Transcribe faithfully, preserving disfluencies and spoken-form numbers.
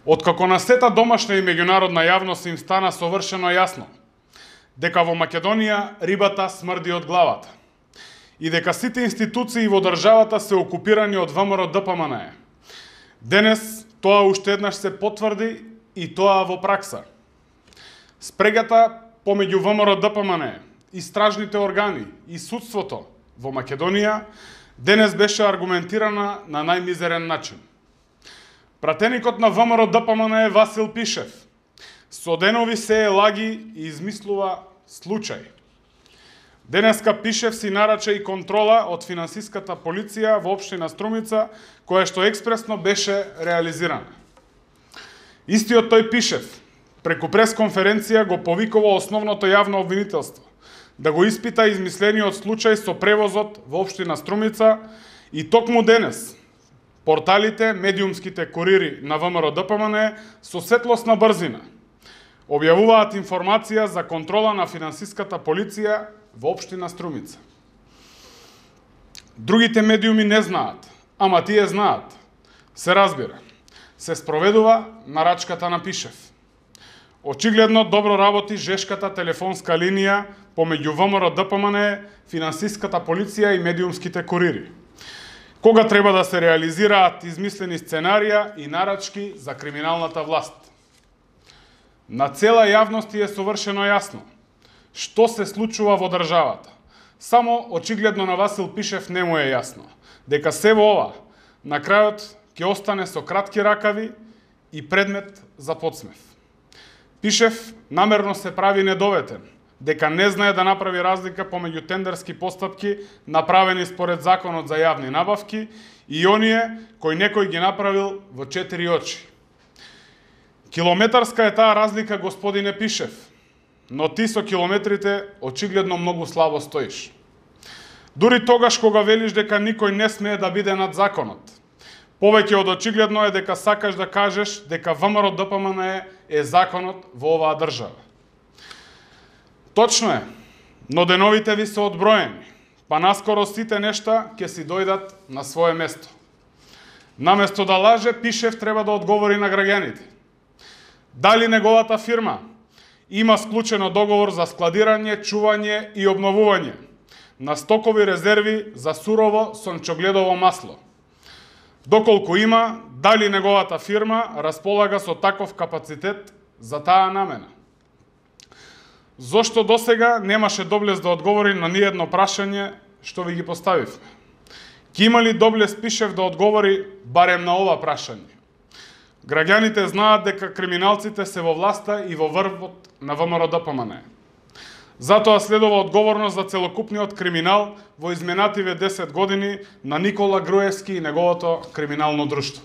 Откако на сета домашна и меѓународна јавност им стана совршено јасно дека во Македонија рибата смрди од главата и дека сите институции во државата се окупирани од ВМРО-ДПМНЕ. Денес тоа уште еднаш се потврди и тоа во пракса. Спрегата помеѓу ВМРО-ДПМНЕ, истражните органи и судството во Македонија денес беше аргументирана на најмизерен начин. Пратеникот на ВМРО-ДПМНЕ Васил Пишев со денови сее лаги и измислува случај. Денеска Пишев си нарача и контрола од финансиската полиција во општина Струмица, која што експресно беше реализирана. Истиот тој Пишев преку пресконференција го повикува основното јавно обвинителство да го испита измислениот случај со превозот во општина Струмица и токму денес порталите, медиумските курири на ВМРО-ДПМНЕ со светлосна брзина објавуваат информација за контрола на финансиската полиција во општина Струмица. Другите медиуми не знаат, ама тие знаат. Се разбира, се спроведува нарачката на Пишев. Очигледно добро работи жешката телефонска линија помеѓу ВМРО-ДПМНЕ, финансиската полиција и медиумските курири, кога треба да се реализираат измислени сценарија и нарачки за криминалната власт. На цела јавност е совршено јасно што се случува во државата. Само очигледно на Васил Пишев не му е јасно дека се во ова на крајот ќе остане со кратки ракави и предмет за подсмев. Пишев намерно се прави недоветен, дека не знае да направи разлика помеѓу тендерски постапки направени според Законот за јавни набавки и оние кои некој ги направил во четири очи. Километарска е таа разлика, господине Пишев, но ти со километрите очигледно многу слабо стоиш. Дури тогаш кога велиш дека никој не смее да биде над законот, повеќе од очигледно е дека сакаш да кажеш дека ВМРО-ДПМНЕ е законот во оваа држава. Точно е, но деновите ви се одброени, па наскоро сите нешта ќе си дојдат на свое место. Наместо да лаже, Пишев треба да одговори на граѓаните. Дали неговата фирма има склучено договор за складирање, чување и обновување на стокови резерви за сурово сончогледово масло? Доколку има, дали неговата фирма располага со таков капацитет за таа намена? Зошто досега немаше доблес да одговори на ниедно прашање што ви ги поставивме? Ки има ли доблес Пишев да одговори барем на ова прашање? Граѓаните знаат дека криминалците се во власта и во врвот на ВМРО-ДПМНЕ. Затоа следува одговорност за целокупниот криминал во изминативе десет години на Никола Груевски и неговото криминално друштво.